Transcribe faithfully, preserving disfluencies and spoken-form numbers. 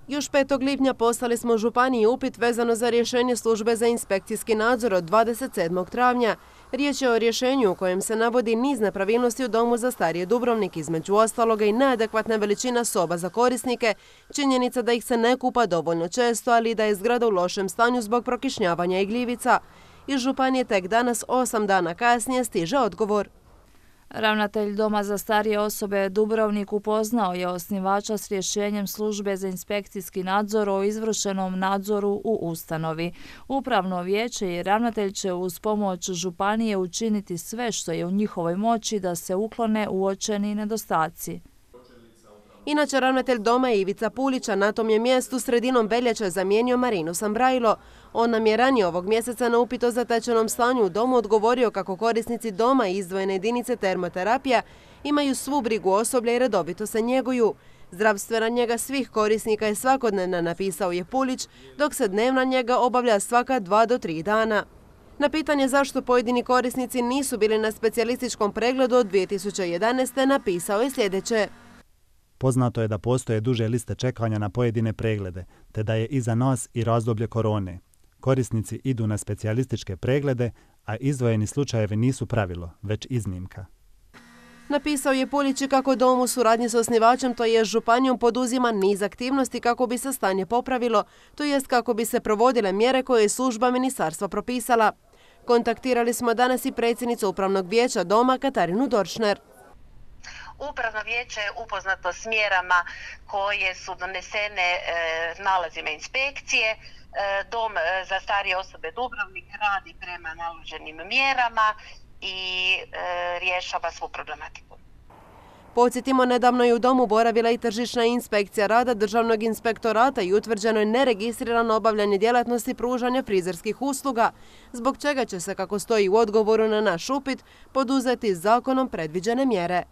Još petog lipnja poslali smo županiji upit vezano za rješenje službe za inspekcijski nadzor od dvadeset sedmog travnja. Riječ je o rješenju u kojem se navodi niz nepravilnosti u domu za starije Dubrovnik, između ostaloga i neadekvatna veličina soba za korisnike, činjenica da ih se ne kupa dovoljno često, ali i da je zgrada u lošem stanju zbog prokišnjavanja i gljivica. Iz županije tek danas, osam dana kasnije, stiže odgovor. Ravnatelj Doma za starije osobe Dubrovnik upoznao je osnivača s rješenjem službe za inspekcijski nadzor o izvršenom nadzoru u ustanovi. Upravno vijeće i ravnatelj će uz pomoć županije učiniti sve što je u njihovoj moći da se uklone uočeni nedostaci. Inače, ravnatelj doma Ivica Pulića na tom je mjestu sredinom veljače zamijenio Marinu Sambrajlo. On nam je ranije ovog mjeseca na upit o zatečenom stanju u domu odgovorio kako korisnici doma i izdvojene jedinice termoterapija imaju svu brigu osoblja i redovito se njeguju. Zdravstvena njega svih korisnika je svakodnevna, napisao je Pulić, dok se dnevna njega obavlja svaka dva do tri dana. Na pitanje zašto pojedini korisnici nisu bili na specijalističkom pregledu od dvije tisuće jedanaeste. napisao je sljedeće. Poznato je da postoje duže liste čekanja na pojedine preglede, te da je iza nas i razdoblje korone. Korisnici idu na specijalističke preglede, a izdvojeni slučajevi nisu pravilo, već iznimka. Napisao je Pulić kako dom u suradnji s osnivačem, to je županijom, poduzima niz aktivnosti kako bi se stanje popravilo, to jest kako bi se provodile mjere koje je služba ministarstva propisala. Kontaktirali smo danas i predsjednicu Upravnog vijeća doma Katarinu Doršner. Upravno vijeće je upoznato s mjerama koje su donesene e, nalazima inspekcije. E, Dom za starije osobe Dubrovnik radi prema naloženim mjerama i e, rješava svu problematiku. Podsjetimo, nedavno je u domu boravila i tržišna inspekcija rada Državnog inspektorata i utvrđeno je neregistrirano obavljanje djelatnosti pružanja frizerskih usluga, zbog čega će se, kako stoji u odgovoru na naš upit, poduzeti zakonom predviđene mjere.